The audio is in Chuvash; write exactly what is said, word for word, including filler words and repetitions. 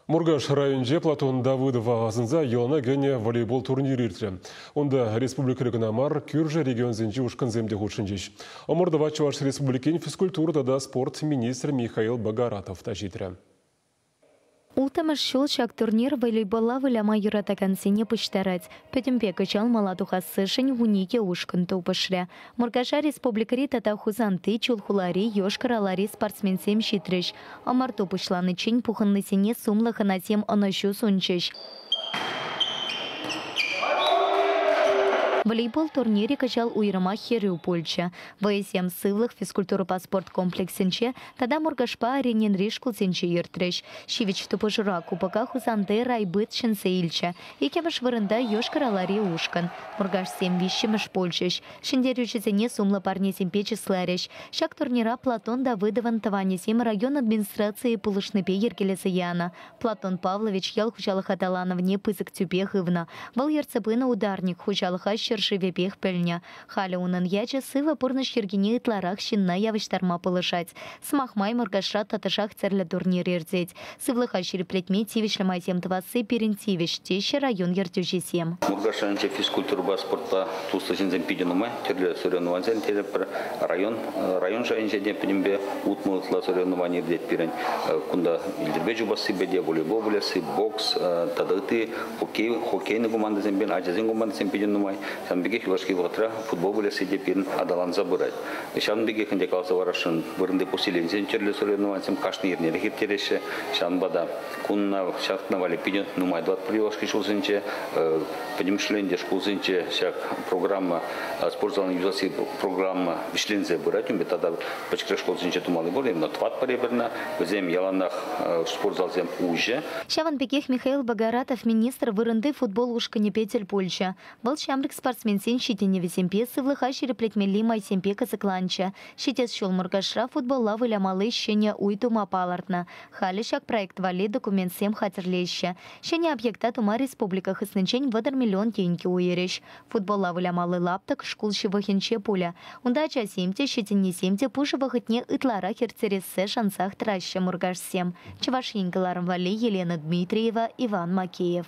Муркаш районӗнче Платон Давыдова асӑнса йӑлана кӗнӗ волейбол турнирӗ иртрӗ. Унта республикӑри кӑна мар, кӳршӗ регионсенчи ушкӑнсем те хутшӑнчӗҫ. Ӑмӑртӑва Чӑваш Республикин физкультура тата спорт министрӗ Михаил Богаратов та ҫитрӗ. Улттӑмӗш ҫул ҫак турнир волейболла выляма юратакансене пуҫтарать. Пӗтӗмпе кӑҫал мала тухассишӗн вуникӗ ушкӑн тупӑшрӗ. Муркаша республикӑри тата Хусанти, Чулхулари, Йошкар-Олари спортсменсем ҫитрӗҫ. Ӑмӑрту пуҫланиччен пухӑннисене сумлӑ хӑнасем ӑнӑҫу сунчӗҫ. Волейбол турнирӗ кӑҫал уйрӑмах хӗрӳ пулчӗ. Вӑйӑсем сывлӑх физкультурӑпа спорт комплексӗнче тата Муркашпа Орининри шкулсенче иртрӗҫ. Ҫивӗч тупӑшура кубока Хусанти райбыт ҫӗнсе илчӗ. Иккӗмӗш вырӑнта Йошкар-Олари ушкӑн. Муркашсем виҫҫӗмӗш пулчӗҫ. Ҫӗнтерӳҫӗсене сумлӑ парнесемпе чысларӗҫ. Ҫак турнира Платон Давыдовӑн тӑванӗсем район администрацийӗ пулӑшнипе йӗркелесе янӑ. Платон Павлович ял хуҫалӑх аталанӑвне пысӑк тӳпе хывнӑ. Вӑл ертсе пынӑ ударник хуҫалӑха ҫӗршывӗпех пӗлнӗ. Халӗ унӑн ячӗ сывӑ пурнӑҫ йӗркине ытларах ҫынна явӑҫтарма пулӑшать. Сӑмах май Муркашра тӑтӑшах тӗрлӗ турнир иртет. Сывлӑха ҫирӗплетме тивӗҫлӗ майсем тӑвасси пирӗн тивӗҫ, теҫҫӗ район ертӳҫисем. Муркаш районӗнче физкультурӑпа спортпа туслӑ ҫынсем питӗ нумай, тӗрлӗ соревнованисем терӗпӗр. Район, район шайӗнче те пӗтӗмпе утмӑл ытла соревновани иртет пирӗн. Кунта йӗлтӗрпе чупассипе те, волейбол вылясси, бокс тата ытти хоккей, хоккейный командӑсемпе, ачасен командисем питӗ нумай. Ҫавӑн пекех юлашки вӑхӑтра футбол вылясси те пирӗн аталанса пырать. Ҫавӑн пекех ӗнтӗ каласа парасшӑн, вырӑнти поселенисен тӗрлӗ соревнованисем кашни эрнерех ирттереҫҫӗ. Ҫавӑнпа та кунна ҫакна валли питӗ нумай тӑватпӑр юлашки ҫулсенче. Пӗтӗмӗшле ӗнтӗ шкулсенче ҫак программа, спорт залне юсасси программа вӗҫленсе пырать. Унпа тата пӗчӗкрех шкулсенче тумалли пур, именно тӑватпӑр эпир. Вӗсем яланах спорт залсем уҫӑ. Ҫавӑн пекех Михаил Богаратов министр вырӑнти футбол ушкӑнӗпе тӗл пулчӗ. Вӑл ҫамрӑк спортсменсен ҫитӗнӗвӗсемпе сывлӑха ҫирӗплетмелли майсемпе кӑсӑкланчӗ. Ҫитес ҫул Муркашра футболла вылямалли ҫӗнӗ уй тума палӑртнӑ. Халӗ ҫак проект валли документсем хатӗрлеҫҫӗ. Ҫӗнӗ объекта тума республика хыснинчен вӑтӑр миллион тенкӗ уйӑрӗҫ. Футболла вылямалли лаптӑк шкул ҫывӑхӗнче пулӗ. Унта ачасем те, ҫитӗннисем те пушӑ вӑхӑтне ытларах ирттерессе шансах тӑраҫҫӗ муркашсем. Чӑваш Ен кӑларӑм валли Елена Дмитриева, Иван Макеев.